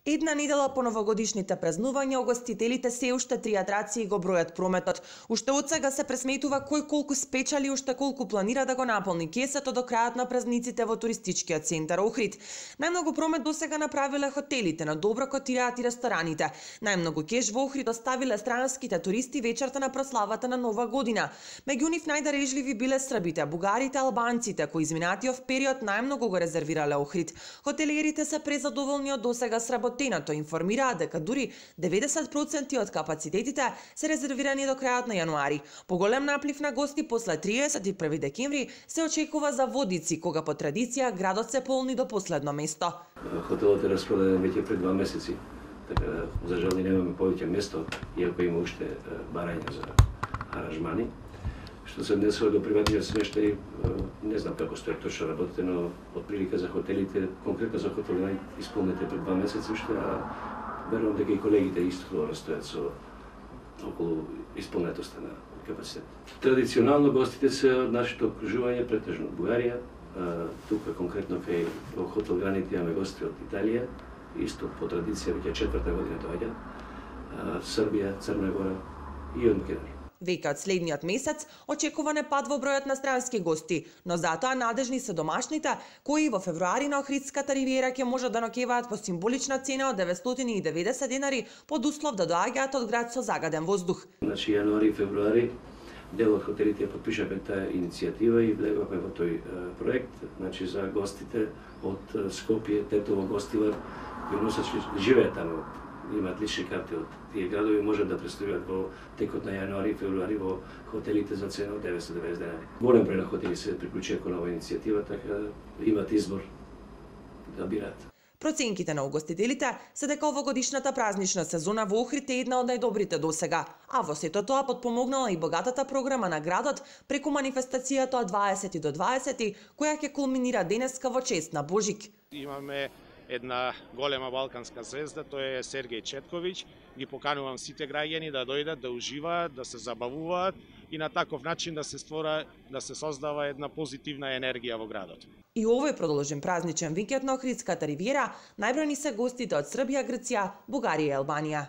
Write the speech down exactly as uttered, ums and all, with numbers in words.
Една недела по новогодишните празнувања, угостителите се уште три атракции го бројат прометот. Уште од сега се пресметува кој колку спечали, уште колку планира да го наполни кесето до крајот на празниците во туристичкиот центар Охрид. Најмногу промет до сега направиле хотелите, на добро котираат и рестораните. Најмногу кеш во Охрид оставиле странските туристи вечерта на прославата на Нова година. Меѓу нив најдарежливи биле србите, бугарите, албанците, кои изминатиот период најмногу го резервирале Охрид. Хотелиерите се презадоволни од досега сработењето. Информираат дека дури деветдесет проценти од капацитетите се резервирани до крајот на јануари. Поголем наплив на гости после триесет и први декември се очекува за Водици, кога по традиција градот се полни до последно место. Хотелот е распродаден веќе пред два месеци, така да за жал немаме повеќе место, иако има уште барања за аранжмани. Што се однесува до приватниот смештај, не знам како стои точно работите, но отприлика за хотелите, конкретно за хотелите исполнете пред два месеци уште, а верувам дека и колегите исто растојат со околу исполнетоста на капацитет. Традиционално гостите се од нашето окружување, претежно од Бугарија, тука конкретно кај во хотел Граните имаме гости од Италија, исто по традиција веќе четврта година доаѓа, Србија, Црна Гора и од Македонија. Веќе од следниот месец очекуван е пад во бројот на странски гости, но затоа надежни се домашните, кои во февруари на Охридската ривиера ќе можат да ноќеваат по символична цена од деветстотини и деветдесет денари, под услов да доаѓаат од град со загаден воздух. Значи јануари и февруари дел од хотелите ја подпишавме таа иницијатива и влегавме во тој проект, значи за гостите од Скопје, Тетово, Гостивар, кои носат живеат таму, имаат лични карти од тие градови, можат да престојат во текот на јануари и февруари во хотелите за цена од деветстотини и деветдесет денари. Голем број на хотели се приклучија кон оваа иницијатива, така имат избор да бираат. Проценките на угостителите се дека овогодишната празнична сезона во Охрид е една од најдобрите досега, а во сето тоа потпомогнала и богатата програма на градот преку манифестацијата од дваесети до дваесети, која ќе кулминира денеска во чест на Божик. Имаме една голема балканска звезда, тој е Сергеј Четковиќ. Ги поканувам сите граѓани да дојдат, да уживаат, да се забавуваат и на таков начин да се створа, да се создава една позитивна енергија во градот. И овој продолжен празничен викенд на Охридската ривиера најбројни се гостите од Србија, Грција, Бугарија и Албанија.